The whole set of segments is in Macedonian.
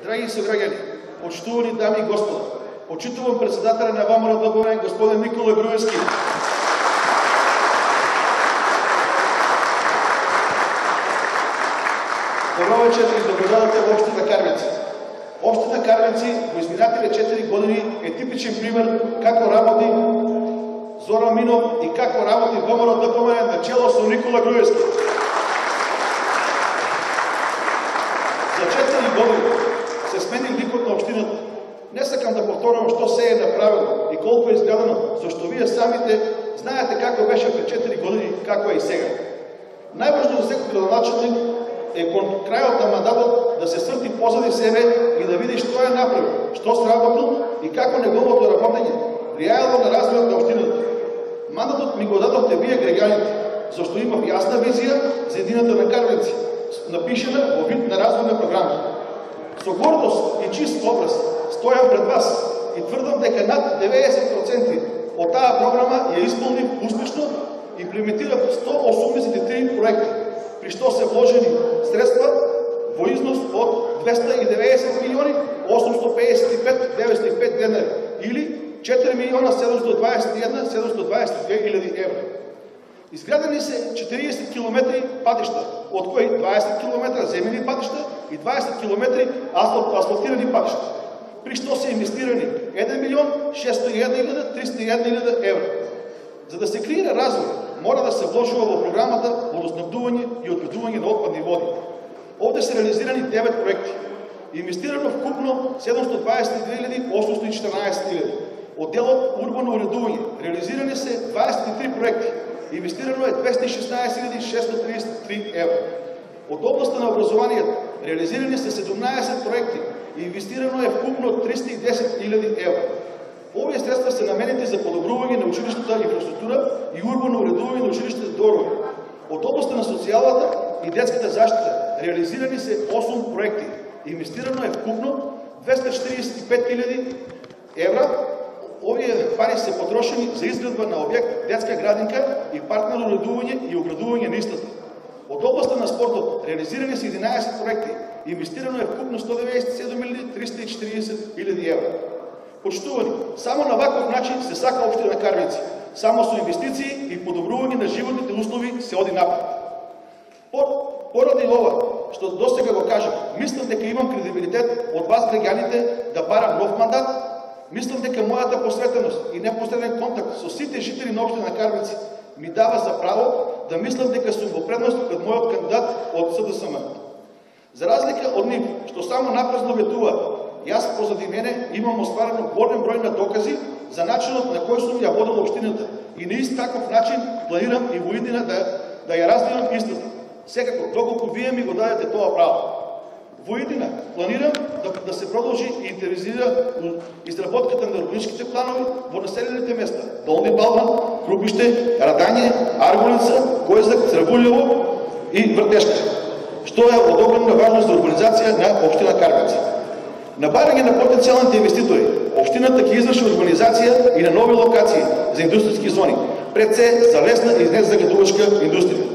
Драги сограѓани, почитувани дами и господа, почитувам председателя на ВМРО господин Никола Груевски. Добро вечер и добродојдовте во општина Карвенци. Општина Карвенци во изминатите 4 години е типичен пример како работи Зоран Минов и како работи ВМРО на чело со Никола Груевски. За 4 години се смени ликот на општината. Не сакам да повторам што се е направено и колку е изгледано, зашто вие самите знаете како беше пред 4 години, како е и сега. Најважно за секој градоначелник е кон крајот на мандатот да се сврти позади себе и да види што е направил, што сработил и како неговото работење влијаело на развојот на општината. Мандатот ми го дадовте вие граѓаните, зашто имав јасна визија за едината на Карвенци, напишена во вид на развојна програма. Со гордост и чист образ стојам пред вас и тврдам дека над 90% од таа програма ја исполнив успешно и имплементирав 183 проекти, при што се вложени средства во износ од 290 милиони 855 905 денари или 4 милиона 721 722 хиляди евра. Изградени се 40 километри патишта, од кои 20 километра земени патишта и 20 километри асфалтирани патишта, при што се инвестирани 1 милион 601 301 евра. За да се креира развој, мора да се вложува во програмата водоснабдување и одведување на отпадни води. Овде се реализирани 9 проекти. Инвестирано вкупно 722 814 од делот урбано уредување. Реализирани се 23 проекти. Инвестирано е 216 633 евра. Од областта на образованието реализирани се 17 проекти и инвестирано е вкупно 310 евра. Овие средства се наменети за подобрување на училишната инфраструктура и урбано уредување на училиштите дворови. Од областта на социјалата и детската заштита реализирани се 8 проекти. Инвестирано е вкупно 245 евра. Овие пари се потрошени за изградба на објект детска градинка и партнерно уредување и оградување на истата. Од областта на спортот реализирани се 11 проекти. Инвестирано е вкупно 197 340 евра. Почитувани, само на ваков начин се сака општина Карвенци. Само со инвестиции и подобрување на животните услови се оди напред. Поради ова, што досега го кажам, мислам дека имам кредибилитет од вас граѓаните да барам нов мандат. Мислам дека мојата посветеност и непосреден контакт со сите жители на општина Карвенци ми дава за право да мислам дека сум во предност пред мојот кандидат од СДСМ. За разлика од нив, што само напразно ветува, јас позади мене имам остварено голем број на докази за начинот на кој сум ја водел општината и на ист таков начин планирам и во иднина да ја развивам истата. Секако, доколку вие ми го дадете тоа право. Во иднина планирам да се продолжи и интензивира изработката на урбаничките планови во населените места Долни Балван, Крупиште, Радање, Аргулица, Којзак, Црвулево и Вртешка, што е од огромна важност за урбанизација на општина Карвенци. На барање на потенцијалните инвеститори, општината ќе изврши урбанизација и на нови локации за индустријски зони, пред се за лесна и незагадувачка индустрија.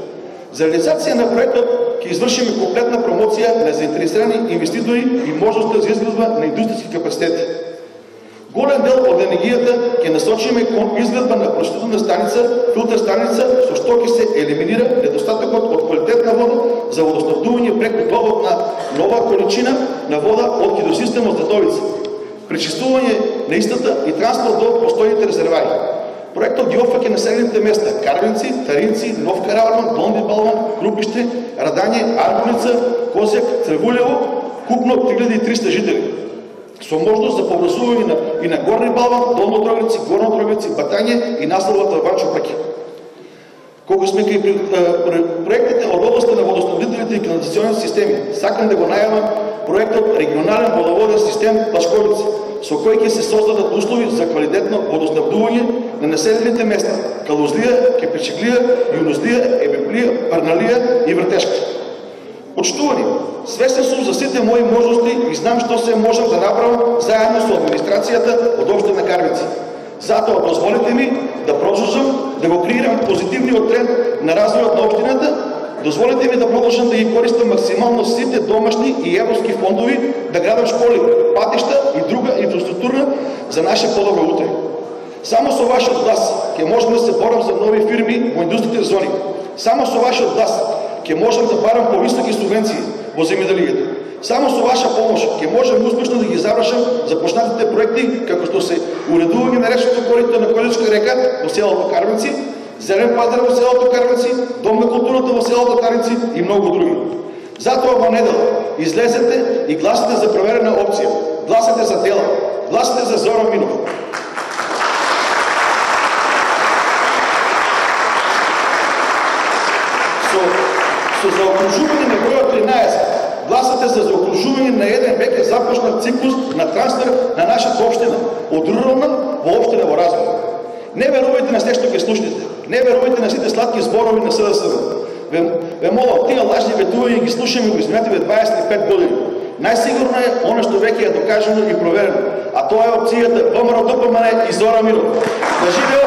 За реализација на проектот ќе извршиме комплетна промоција на заинтересирани инвеститори и можноста за изградба на индустријски капацитети. Голем дел од енергијата ќе насочиме кон изградба на прочистителна станица, филтер станица, со што ќе се елиминира недостатокот од квалитетна вода за водоснабдување преку довод на нова количина на вода од хидросистемот за Довица, пречистување на истата и транспорт до постојните резервари. Проектот ги опфаќа населените места Карвенци, Таринци, Нов Караварман, Долни Балван, Крупиште, Радање, Аргулица, Козјак, Црвулево, купно 3300 жители, со можност за поврзување и на Горни Балван, Долно Дрогрици, Горно Дрогрици, Батање и населбата Ванчо Праќа. Колку сме кај проектите од областта на водоснабдителните и канализационните системи, сакам да го најавам проектот Регионален водоводен систем Плашковица, со кој ќе се создадат услови за квалитетно водоснабдување на населените места Калузлија, Кепечиглија, Јунузлија, Ебеплија, Парналија и Вртешка. Почитувани, свесен сум за сите мои можности и знам што се можам да направам заедно со администрацијата од општина Карвенци. Затоа дозволете ми да продолжам да го креирам позитивниот тренд на развојот на општината. Дозволете ми да продолжам да ги користам максимално сите домашни и европски фондови да градам школи, патишта и друга инфраструктура за наше подобро утре. Само со вашиот глас ќе можем да се борам за нови фирми во индустријните зони. Само со вашиот глас ќе можем да барам повисоки субвенции во земјоделието. Само со ваша помош ќе можем успешно да ги завршам започнатите проекти, како што се уредување на речното корито на Количка река во селото Карвенци, зелен пазар во селото Карвенци, дом на културата во селото Карвенци и многу други. Затоа во недела излезете и гласате за проверена опција. Гласате за дела. Гласате за Зоран Минов. Со заокружување на бројот 13, гласате за заокружување на еден веќе започнат циклус на трансфер на нашата општина од рурална во општина во развој. Не верувајте на се што ќе слушнете. Не верувајте на сите сладки зборови на СДСМ. Ве молам, тие лажни ветувања ги слушаме во изминативе 25 години. Најсигурно е оно што веќе е докажано и проверено, а тоа е опцијата ВМРО ДПМН и Зоран Минов. Да живее